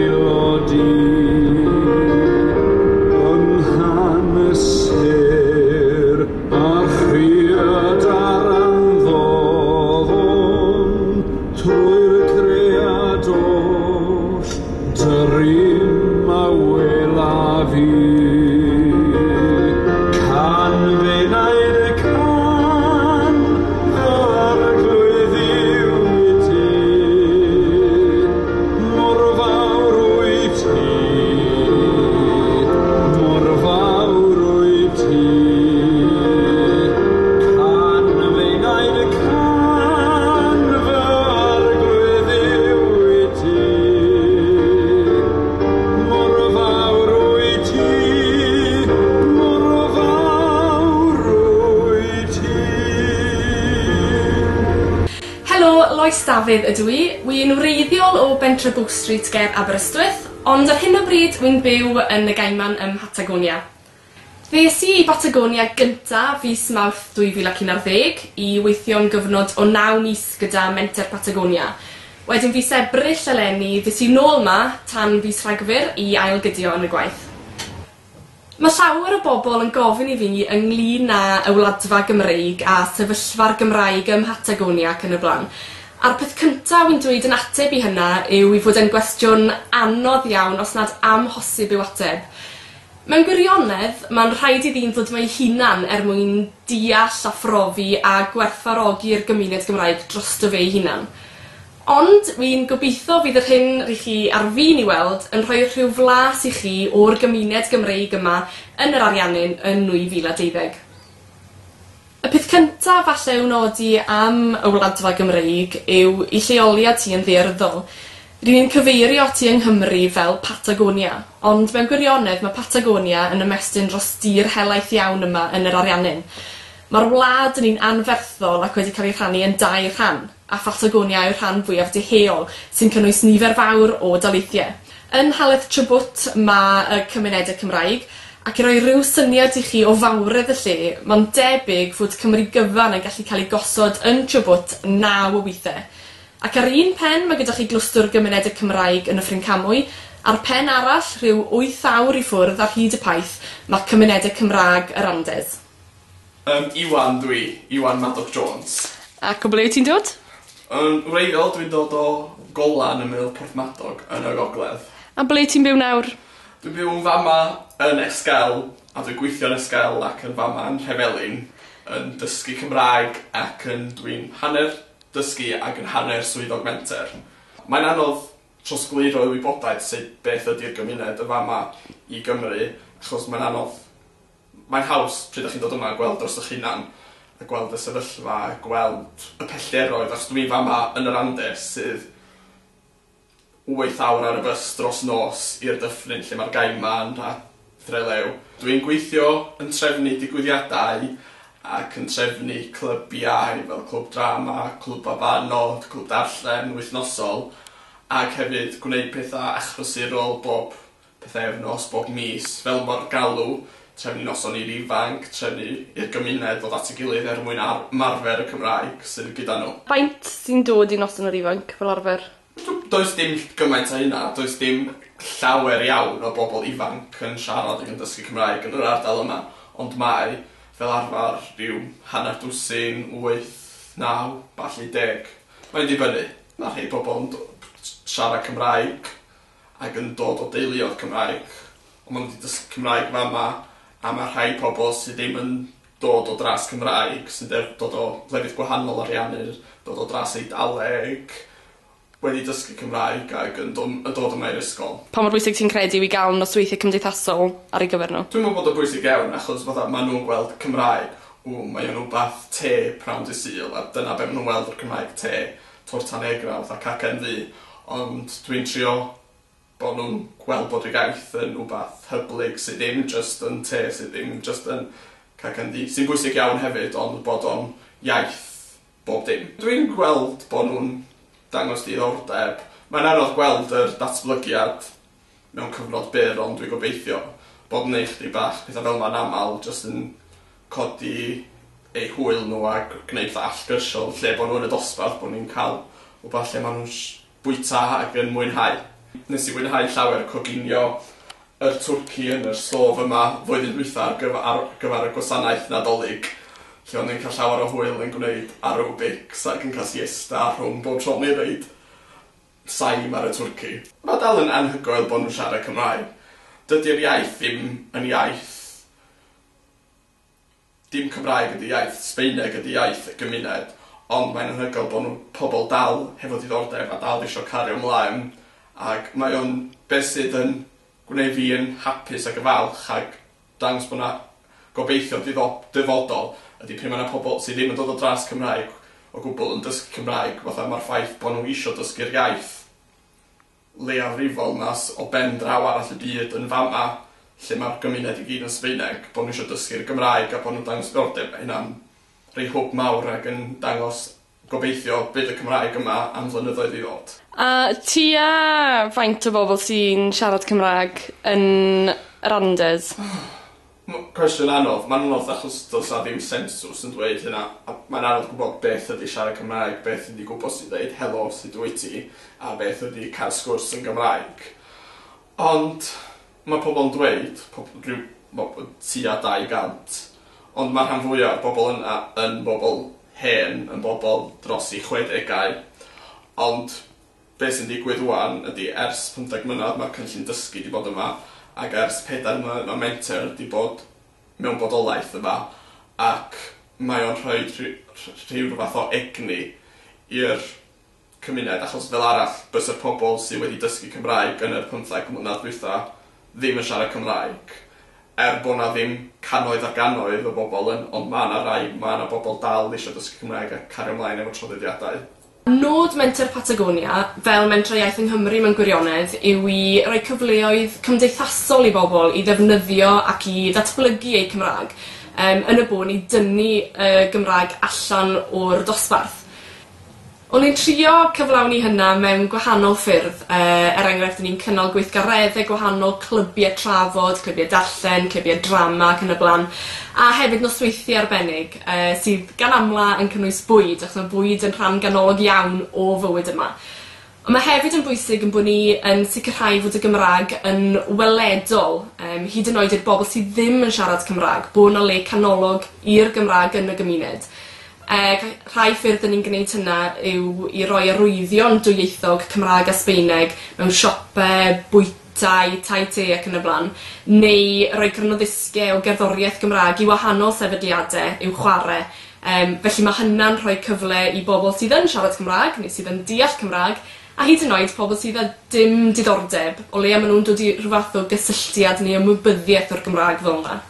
dwylo di. Yng nghan y sêr a chriad ar anddofn, trwy'r cread oll, dy rym a welaf i. Can f'enaid y can, fy arglwydd yw i ti. Mor fawr wyt ti, mor fawr wyt ti. Can f'enaid y can, fy arglwydd yw i ti. Mor fawr wyt ti, mor fawr wyt ti. Helo, Lois Dafydd ydw i. Wi'n wreiddiol o bentre Bow Street ger Aberystwyth, ond ar hyn o bryd wi'n byw yn y Gaiman ym Mhatagonia. Ddes i i Batagonia gynta fis Mawrth 2011 i weithio am gyfnod o 9 mis gyda Menter Patagonia. Wedyn fis Ebrill eleni ddes i nôl 'ma tan fis Rhagfyr i ailgydio yn y gwaith. Mae llawer o bobl yn gofyn i fi ynglyn â y Wladfa Gymreig a sefyllfa'r Gymraeg ym Mhatagonia ac yn y blaen. A'r peth cynta wi'n dweud yn ateb i hynna yw i fod e'n gwestiwn anodd iawn os nad amhosib i'w ateb. Mewn gwirionedd, mae'n rhaid i ddyn ddod 'ma ei hunan er mwyn deall a phrofi a gwerthfawrogi'r gymuned Gymraeg drosto fe ei hunan. Ond wi'n gobeithio fydd yr hyn rych chi ar fin i weld yn rhoi rhyw flas i chi o'r gymuned Gymreig yma yn yr Ariannin yn 2012. Y peth cynta falle i'w nodi am y Wladfa Gymreig yw 'i lleoliad hi yn ddaearyddol. Ry'n ni'n cyfeirio ati yng Nghymru fel Patagonia, ond mewn gwirionedd ma' Patagonia yn ymestyn dros dir helaeth iawn yma yn yr Ariannin. Ma'r wlad yn un anferthol ac wedi cael ei rhannu yn dair rhan, a Phatagonia yw'r rhan fwyaf deheuol, sy'n cynnwys nifer fawr o daleithiau. Yn Nhaleth Chubut ma' y cymunedau Cymraeg, ac i roi rhyw syniad i chi o fawredd y lle, ma'n debyg fod Cymru gyfan yn gallu cael ei gosod yn Chubut 9 o weithiau. Ac ar un pen mae gyda chi glwstwr gymunedau Cymraeg yn Nyffryn Camwy, a'r pen arall, rhyw 8 awr i ffwrdd ar hyd y paith, mae cymunedau Cymraeg yr Andes. Iwan dwi, Iwan Madoc Jones. Ac o ble wyt ti'n dod? Yn wreiddiol dwi'n dod o Golan ymyl Porthmadog yn y gogledd. A ble ti'n byw nawr? Dwi'n byw yn fama yn Esquel a dwi'n gweithio yn Esquel ac yn fama yn Nhrefelin yn dysgu Cymraeg ac yn dwi'n hanner dysgu ac yn hanner swyddog menter. Mae'n anodd trosglwyddo y wybodaeth sut beth ydy'r gymuned y fama i Gymru achos mae'n anodd mae'n haws pryd 'dach chi'n dod yma a gweld dros 'ych hunan a gweld y sefyllfa a gweld y pellteroedd achos dwi fama yn yr Andes sydd 8 awr ar y bys dros nos i'r dyffryn lle mae'r Gaiman a Threlew. Dwi'n gweithio yn trefnu digwyddiadau ac yn trefnu clybiau fel clwb drama, clwb babanod, clwb darllen wythnosol ac hefyd gwneud pethau achlysurol bob pythefnos, bob mis, fel mae'r galw, trefnu noson i'r ifanc, trefnu i'r gymuned ddod at ei gilydd er mwyn ymarfer y Cymraeg sydd gyda nhw. Faint sy'n dod i noson yr ifanc fel arfer? Does dim gymaint â hynna, does dim llawer iawn o bobl ifanc yn siarad ac yn dysgu Cymraeg yn yr ardal yma, ond mae fel arfer rhyw hanner dwsin, 8, 9, falle 10. Mae'n dibynnu. Mae rhai pobl yn siarad Cymraeg ac yn dod o deuluoedd Cymraeg, ond maen nhw wedi dysgu Cymraeg fama, a mae rhai pobl sydd ddim yn dod o dras Cymraeg, sy'n dod o lefydd gwahanol Ariannin, dod o dras Eidaleg, wedi dysgu Cymraeg ac yn dod yma i'r ysgol. Pa mor bwysig ti'n credu yw i gael nosweithiau cymdeithasol ar ei gyfer nhw? Dwi'n meddwl bod o'n bwysig iawn achos fatha maen nhw'n gweld Cymraeg, mae o'n rwbath te pnawn dydd Sul a dyna be maen nhw'n weld o'r Cymraeg te, torta negra, fatha cacen ddu, ond dwi'n trio bod nhw'n gweld bod yr iaith yn rwbath hyblyg sydd ddim jyst yn te, sydd ddim jyst yn cacen ddu, sy'n bwysig iawn hefyd, ond bod o'n iaith bob dim. Dwi'n gweld bod nhw'n dangos diddordeb. Mae'n anodd gweld yr datblygiad mewn cyfnod byr, ond dwi'n gobeithio bod yn neud chdi bach pethau fel 'ma'n aml jyst yn codi eu hwyl nhw a gwneud fatha allgyrsiol lle bod nhw yn y dosbarth, bod ni'n cael rhywbeth lle maen nhw'n bwyta ac yn mwynhau. Nes i fwynhau llawer coginio yr twrci yn yr stôf yma flwyddyn dwytha ar gyf- ar gyfar y gwasanaeth Nadolig lle o'n i'n ca'l llawer o hwyl yn gwneud aerobics ac yn ca'l siesta rhwng bob tro o'n i'n roid saim ar y twrci. Ma' dal yn anhygoel bo' nw'n siarad Cymraeg. Dydi'r iaith ddim yn iaith dim Cymraeg ydi iaith, Sbaeneg ydi iaith y gymuned ond mae'n anhygoel bo' n'w pobol dal hefo diddordeb a dal isio cario mlaen ag mae o'n beth sydd yn gwneud fi yn hapus ag yn falch ag dangos bo' 'na gobeithio diddo- dyfodol ydi pryd ma' 'na pobol sy ddim yn dod o dras Cymraeg o gwbwl yn dysgu Cymraeg fatha ma'r ffaith bo' n'w isio dysgu'r iaith leiafrifol 'ma o ben draw arall y byd yn fama lle ma'r gymuned i gyd yn Sbaeneg bo' n'w isio dysgu'r Gymraeg a bo' nw'n dangos diddordeb ma' hynna'n rhoi hwb mawr ag yn dangos gobeithio bydd y Cymraeg yma am flynyddoedd i ddod. A tua faint o bobl sy'n siarad Cymrag yn yr Andes? Cwestiwn anodd. Ma'n anodd achos do's 'na ddim sensws yn dweud hynna a mae'n anodd gwbod beth ydi siarad Cymraeg beth ydi gwbod sut i ddeud helo sut wyt ti a beth ydi ca'l sgwrs yn Gymraeg. Ond ma' pobol yn dweud pob- rhyw tua 200 ond ma' rhan fwya o'r bobol yna yn bobol hen yn bobol dros 'u chwedegau ond be' sy'n digwydd ŵan ydi ers pymtheg mlynadd ma'r cynllun dysgu 'di bod yma ag ers pedair mlynedd ma' menter 'di bod mewn bodolaeth yma ac mae o'n rhoid rhyw fath o egni i'r cymuned achos fel arall bysa'r pobol sy wedi dysgu Cymraeg yn yr pymtheg mlynadd dwytha ddim yn siarad Cymraeg er bo' 'na ddim cannoedd ar gannoedd o bobol yn ond ma' 'na rai ma' 'na bobol dal isio dysgu Cymraeg a cario mlaen efo traddodiadau. Nod Menter Patagonia, fel Mentrau Iaith yng Nghymru mewn gwirionedd, yw i roi cyfleoedd cymdeithasol i bobl i ddefnyddio ac i ddatblygu eu Cymra'g yym yn y bôn i dynnu y Gymraeg allan o'r dosbarth. O'n i'n trio cyflawni hynna mewn gwahanol ffyrdd er enghraifft o'n i'n cynnal gweithgaredde gwahanol, clybie trafod, clybie darllen, clybie drama ac yn y bla'n a hefyd nosweithie arbennig sydd gan amla yn cynnwys bwyd achos ma' bwyd yn rhan ganolog iawn o fywyd yma. On' ma' hefyd yn bwysig 'yn bo' ni yn sicirhau fod y Gymra'g yn weledol hyd yn oed i'r bobol sy ddim yn siarad Cymra'g bo' 'na le canolog i'r Gymra'g yn y gymuned. Rhai ffyrdd 'dyn ni'n gneud hynna yw i roi arwyddion dwyieithog Cymra'g a Sbaeneg mewn siope, bwytai, tai te ac yn y bla'n neu roi crynoddisgie o gerddorieth Gymra'g i wahanol sefydliade i'w chware. Felly ma' hynna'n rhoi cyfle i bobol sydd yn siarad Cymra'g neu sydd yn deall Cymra'g a hyd yn oed pobol sydd â dim diddordeb o leia ma' nw'n dod i rhyw fath o gysylltiad neu ymwybyddiaeth o'r Gymra'g fel 'na.